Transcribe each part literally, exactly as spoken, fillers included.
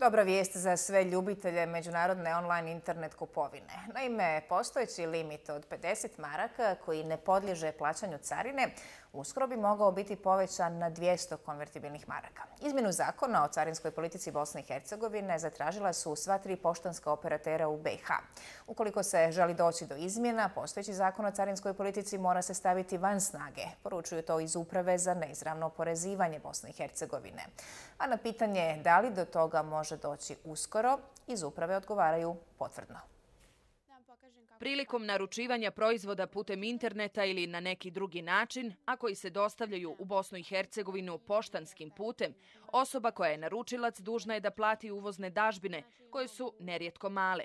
Dobra vijest za sve ljubitelje međunarodne online internet kupovine. Naime, postojeći limit od pedeset maraka koji ne podliježe plaćanju carine uskoro bi mogao biti povećan na dvjesto konvertibilnih maraka. Izmjenu zakona o carinskoj politici Bosne i Hercegovine zatražila su sva tri poštanska operatera u B i H. Ukoliko se želi doći do izmjena, postojeći zakon o carinskoj politici mora se staviti van snage. Poručuju to iz Uprave za neizravno oporezivanje Bosne i Hercegovine. A na pitanje da li do toga može doći uskoro, iz Uprave odgovaraju potvrdno. Prilikom naručivanja proizvoda putem interneta ili na neki drugi način, a koji se dostavljaju u Bosnu i Hercegovinu poštanskim putem, osoba koja je naručilac dužna je da plati uvozne dažbine, koje su nerijetko male.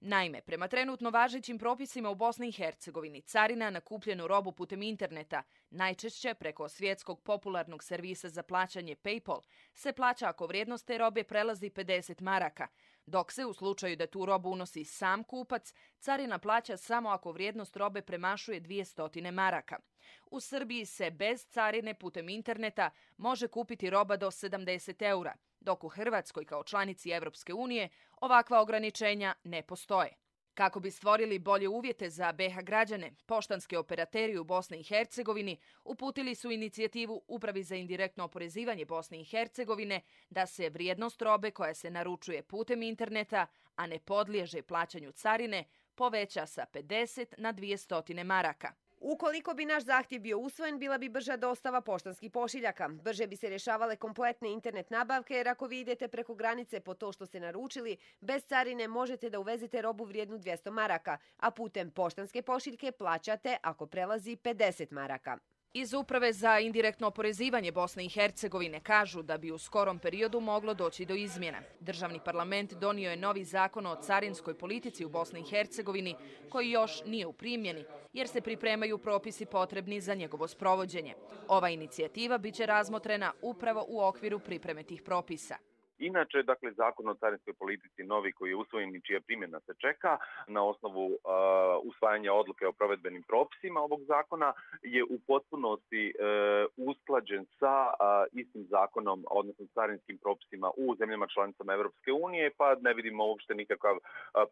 Naime, prema trenutno važećim propisima u Bosni i Hercegovini, carina na kupljenu robu putem interneta, najčešće preko svjetskog popularnog servisa za plaćanje PayPal, se plaća ako vrijednost te robe prelazi pedeset maraka, dok se u slučaju da tu robu unosi sam kupac, carina plaća samo ako vrijednost robe premašuje dvjesto maraka. U Srbiji se bez carine putem interneta može kupiti roba do sedamdeset eura, dok u Hrvatskoj kao članici Evropske unije ovakva ograničenja ne postoje. Kako bi stvorili bolje uvjete za B i H građane, poštanski operateri u Bosni i Hercegovini uputili su inicijativu Upravi za indirektno oporezivanje Bosne i Hercegovine da se vrijednost robe koja se naručuje putem interneta, a ne podliježe plaćanju carine, poveća sa pedeset na dvjesto maraka. Ukoliko bi naš zahtjev bio usvojen, bila bi brža dostava poštanskih pošiljaka. Brže bi se rješavale kompletne internet nabavke, jer ako vi idete preko granice po to što ste naručili, bez carine možete da uvezete robu vrijednu dvjesto maraka, a putem poštanske pošiljke plaćate ako prelazi pedeset maraka. Iz Uprave za indirektno oporezivanje Bosne i Hercegovine kažu da bi u skorom periodu moglo doći do izmjena. Državni parlament donio je novi zakon o carinskoj politici u Bosni i Hercegovini, koji još nije u primjeni, jer se pripremaju propisi potrebni za njegovo sprovođenje. Ova inicijativa biće razmotrena upravo u okviru pripreme tih propisa. Inače, dakle, zakon o carinskoj politici novi koji je usvojen i čija primjena se čeka na osnovu uh, usvajanja odluke o provedbenim propisima ovog zakona je u potpunosti uh, usklađen sa uh, istim zakonom, odnosno carinskim propisima u zemljama članicama Evropske unije, pa ne vidimo uopšte nikakav uh,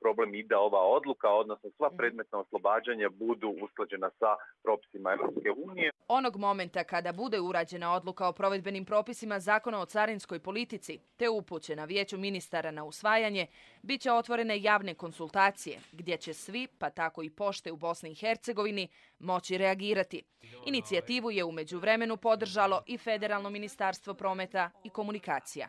problem i da ova odluka, odnosno sva predmetna oslobađanja budu usklađena sa propisima Evropske unije. Onog momenta kada bude urađena odluka o provedbenim propisima zakona o carinskoj politici, te upućena Vijeću ministara na usvajanje, bit će otvorene javne konsultacije, gdje će svi, pa tako i pošte u Bosni i Hercegovini, moći reagirati. Inicijativu je u međuvremenu podržalo i Federalno ministarstvo prometa i komunikacija.